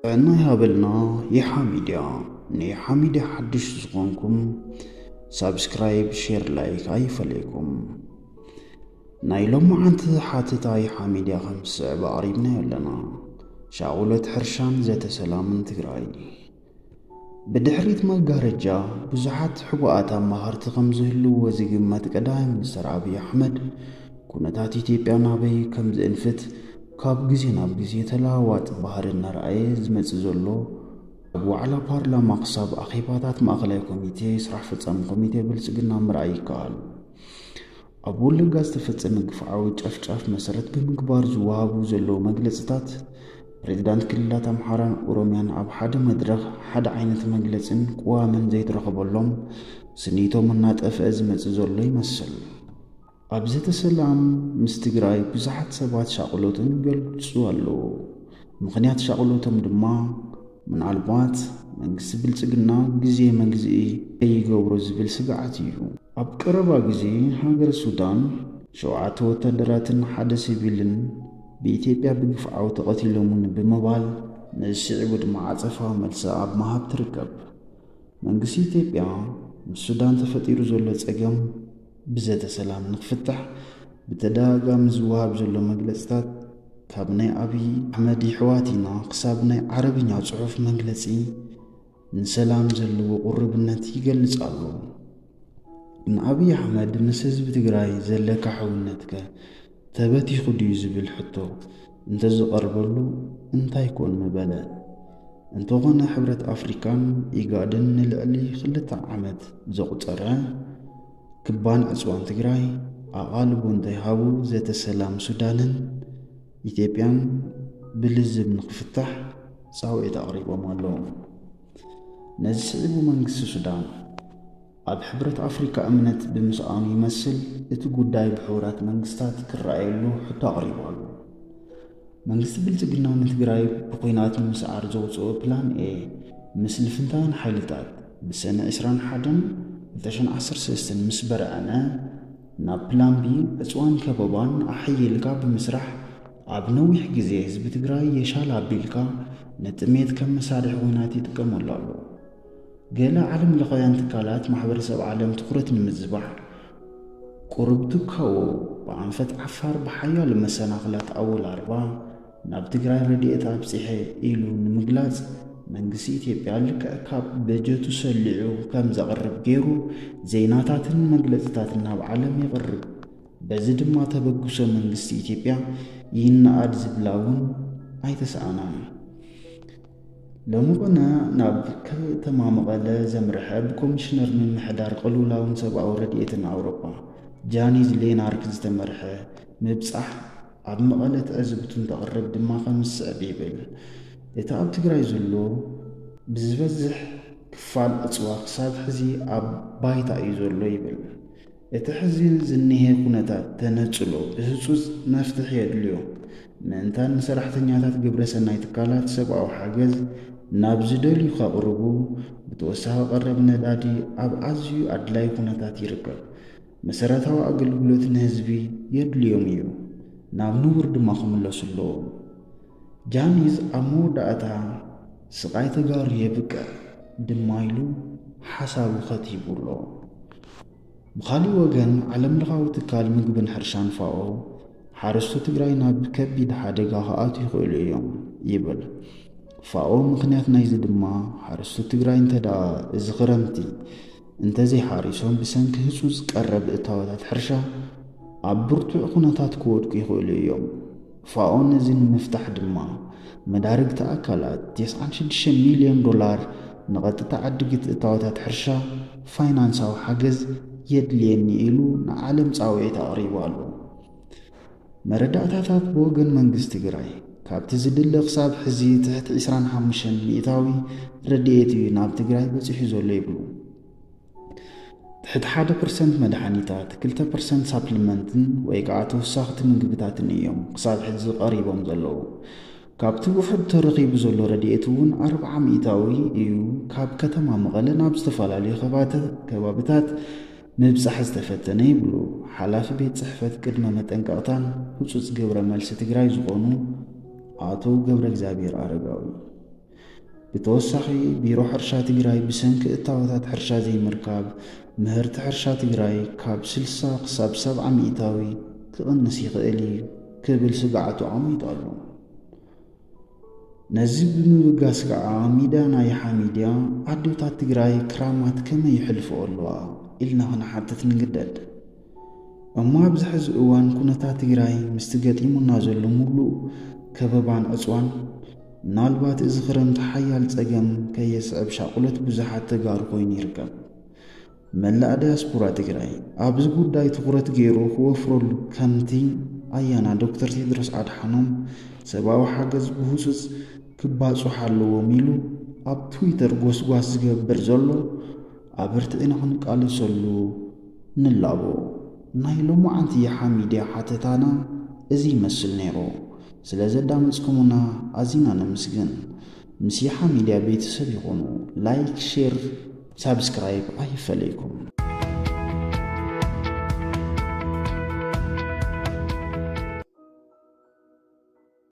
ጥዕና ይሃበልና። ይሓ ሚድያ። ንይሓ ሚድያ ሓድሽ ዝኾንኩም ሳብስክራይብ፣ ሼር፣ ላይክ ኣይፈለይኩም። ናይ ሎማዓንቲ ሓተታ ይሓ ሚድያ ከም ዝስዕብ ኣቕሪብናዮ ኣለና። ሻቑሎት ሕርሻን ዘተ ሰላምን ትግራይ። ብድሕሪት መጋረጃ ብዙሓት ሕቡኣት ኣማኸርቲ ከም ዝህልውዎ ዝግመት ቀዳማይ ሚኒስትር ኣብይ ኣሕመድ፣ ኩነታት ኢትዮጵያ ናበይ ከም ዝእንፍት ካብ ግዜ ናብ ግዜ ተለዋዋጢ ባህሪ እናረኣየ ዝመጽእ ዘሎ፣ ካብ ዋዕላ ፓርላማ ክሳብ ኣኼባታት ማእኸላይ ኮሚቴ፣ ስራሕ ፈጻሚ ኮሚቴ ብልጽግና ምርኣይ ይከኣል። ኣብ ወለጋ ዝተፈጸመ ግፍዓዊ ጨፍጫፍ መሰረት ብምግባር ዝወሃቡ ዘለዉ መግለጽታት፣ ፕሬዝዳንት ክልላት ኣምሓራን ኦሮሚያን ኣብ ሓደ መድረኽ ሓደ ዓይነት መግለጽን ቅዋምን ዘይተረኸበሎም ስኒቶም እናጠፍአ ዝመጽእ ዘሎ ይመስል። ኣብ ዘተ ሰላም ምስ ትግራይ ብዙሓት ሰባት ሻቕሎቶም ይገልጹ ኣለዉ። ምኽንያት ሻቕሎቶም ድማ ምናልባት መንግስቲ ብልጽግና ግዜ መግዝኢ ከይገብሮ ዝብል ስግኣት እዩ። ኣብ ቀረባ ግዜ ሃገር ሱዳን ሸውዓተ ወታደራትን ሓደ ሲቪልን ብኢትዮጵያ ብግፍዓዊ ተቐቲሎምን ብምባል፣ ነዚ ስዒቡ ድማ ዓጸፋዊ መልሲ ኣብ ምሃብ ትርከብ። መንግስቲ ኢትዮጵያ ምስ ሱዳን ተፈጢሩ ዘሎ ጸገም ብዘተ ሰላም ንክፍታሕ ብተደጋጋሚ ዝወሃብ ዘሎ መግለጽታት፣ ካብ ናይ ኣብይ ኣሕመድ ይሕዋት ኢና ክሳብ ናይ ዓረብኛ ጽሑፍ መግለጺ፣ ንሰላም ዘለዎ ቁርብነት ይገልጽ ኣሎ። ንኣብይ ኣሕመድ ምስ ህዝቢ ትግራይ ዘለካ ሕውነትከ ተበቲኹ ድዩ ዝብል ሕቶ እንተዝቐርበሉ እንታይ ኮን ምበለ? እንተኾነ ሕብረት ኣፍሪካን ኢጋድን ንልዕሊ ክልተ ዓመት ዘቑጸረ ክባን ዕጽዋን ትግራይ ኣቓልቦ እንተይሃቡ ዘተ ሰላም ሱዳንን ኢትዮጵያን ብልዝብ ንክፍታሕ ጻውዒት ኣቕሪቦም ኣለዉ። ነዚ ስዒቡ መንግስቲ ሱዳን ኣብ ሕብረት ኣፍሪካ እምነት ብምስኣኑ ይመስል እቲ ጉዳይ ብሕቡራት መንግስታት ክረኣየሉ ሕቶ ኣቕሪቡ ኣሎ። መንግስቲ ብልጽግና ንትግራይ ብኲናት ንምስዓር ዘውፅኦ ፕላን ኤ ምስ ልፍንታውያን ሓይልታት ብሰነ ዕስራን ሓደን ክልተ ሽሕን ዓሰርተ ሰለስተን ምስ በርዐነ፣ ናብ ፕላን ቢ ዕፅዋን ከበባን ኣሐይልካ ብምስራሕ ኣብ ነዊሕ ግዜ ህዝቢ ትግራይ የሻል ኣቢልካ ንጥሜት ከም መሳርሒ ኲናት ይጥቀመሉ ኣሎ። ገለ ዓለም ለኻውያን ትካላት ማሕበረሰብ ዓለም ትኹረት ንምዝባሕ ቁሩብ ትካዎ ብኣንፈት ዓፋር ብሓያሎ መሰናኽላት ኣወላርባ ናብ ትግራይ ረድኤት ኣብፂሐ ኢሉ ንምግላፅ መንግስቲ ኢትዮጵያ ልክዕ ካብ በጀቱ ሰሊዑ ከም ዘቕርብ ገይሩ ዜናታትን መግለፅታትን ናብ ዓለም የቕርብ። በዚ ድማ ተበግሶ መንግስቲ ኢትዮጵያ ይነኣድ ዝብላ እውን ኣይተሰኣናን። ሎሚ ቁነ ናብ ከተማ መቐለ ዘምርሐ ብኮሚሽነር ምምሕዳር ቅልውላውን ሰብኣዊ ረድኤትን ኣውሮጳ ጃኒዝ ሌናርክ ዝተመርሐ ምብጻሕ ኣብ መቐለ ትዕዝብቱ እንተቕርብ ድማ ከም ዝስዕብ ይብል። እቲ ኣብ ትግራይ ዘሎ ብዝበዝሕ ክፋል እፅዋ ክሳብ ሕዚ ኣብ ባይታ እዩ ዘሎ ይብል። እቲ ሕዚ ዝኒሄ ኩነታት ተነፅሎ ብህፁፅ መፍትሒ የድልዮ። ምእንታን ንሰራሕተኛታት ግብረ ሰናይ ትካላት ሰብኣዊ ሓገዝ ናብ ዝደልዩ ከቕርቡ፣ ብተወሳኺ ቀረብ ነዳዲ ኣብ ኣዝዩ ኣድላይ ኩነታት ይርከብ። መሰረታዊ ኣገልግሎት ንህዝቢ የድልዮም እዩ፣ ናብ ንቡር ድማ ክምለሱ ኣለዎም። ጃኒዝ ኣብ መወዳእታ ስቓይ ተጋሩ የብቅዕ ድማ ኢሉ ሓሳቡ ከቲቡ ኣሎ። ብኻሊእ ወገን ዓለም ለኻዊ ትካል ምግብን ሕርሻን ፋኦ ሓረስቶ ትግራይ ናብ ከቢድ ሓደጋ ክኣትዉ ይኽእሉ እዮም ይብል። ፋኦ ምኽንያት ናይዚ ድማ ሓረስቶ ትግራይ እንተ ደኣ እዚ ክረምቲ እንተዘይሓሪሶም ብሰንኪ ህፁፅ ቀረብ እታወታት ሕርሻ ኣብ ብርቱዕ ኩነታት ክወድቁ ይኽእሉ እዮም። ፋኦ ነዚ ንምፍታሕ ድማ መዳርግቲ ኣካላት ተስዓን ሽዱሽተ ሚልዮን ዶላር ንቐጥታ ዕድጊት እታወታት ሕርሻ ፋይናንሳዊ ሓገዝ የድልየኒ ኢሉ ንዓለም ጻውዒት ኣቕሪቡ ኣሎ። መረዳእታታት ብወገን መንግስቲ ትግራይ ካብቲ ዝድለ ክሳብ ሕዚ ትሕቲ ዕስራን ሓሙሽተን ሚእታዊ ረድኤት እዩ ናብ ትግራይ በፂሑ ዘሎ ይብሉ። ትሕቲ ሓደ ፐርሰንት መድሓኒታት፣ ክልተ ፐርሰንት ሳፕሊመንትን ወይ ከዓ ተወሳኽቲ ምግብታትን እዮም ክሳብ ሕዚ ቀሪቦም ዘለዉ። ካብቲ ውሑድ ተረኺቡ ዘሎ ረድኤት እውን ኣርብዓ ሚእታዊ እዩ ካብ ከተማ መቐለ ናብ ዝተፈላለዩ ከባተ-፣ ከባብታት ምብጻሕ ዝተፈተነ ይብሉ ሓላፊ ቤት ጽሕፈት ቅድመ መጠንቀቕታን ህጹጽ ግብረ መልሲ ትግራይ ዝኾኑ ኣቶ ገብረ እግዚኣብሔር ኣረጋዊ። ብተወሳኺ ቢሮ ሕርሻ ትግራይ ብሰንኪ እታወታት ሕርሻ ዘይምርካብ ምህርቲ ሕርሻ ትግራይ ካብ ስልሳ ክሳብ ሰብዓ ሚእታዊ ክቕንስ ይኽእል እዩ ክብል ስግኣቱ ኣቐሚጡ ኣሎ። ነዚ ብምብጋስ ከዓ ሚድያ ናይ ሓሚድያ ኣዴታት ትግራይ ክራማት ከመይ ይሕልፍኦ ኣለዋ ኢልና ክንሓትት ንግደድ። እሞ ኣብዚ ሕዚ እዋን ኩነታት ትግራይ ምስቲ ገጢሙና ዘሎ ሙሉእ ከበባን ዕፅዋን ምናልባት እዚ ክረምቲ ሓያል ፀገም ከየስዕብ ሻቁለት ብዙሓት ተጋሩ ኮይኑ ይርከብ። መላእ ዳያስፖራ ትግራይ ኣብዚ ጉዳይ ትኹረት ገይሩ ክወፍረሉ ከምቲ ኣያና ዶክተር ቴድሮስ ኣድሓኖም ሰብኣዊ ሓገዝ ብህፁፅ ክባፅሑ ኣለዎም ኢሉ ኣብ ትዊተር ጎስጓስ ዝገብር ዘሎ ኣበርቲዕና ክንቃለሰሉ ንላቦ። ናይ ሎማዓንቲ የሓ ሚድያ ሓተታና እዚ ይመስል ነይሩ። ስለ ዘዳመፅኩምና ኣዚና ነመስግን። ምስ የሓ ሚድያ ቤተሰብ ይኹኑ። ላይክ፣ ሼር፣ ሳብስክራይብ ኣይፈለይኩም።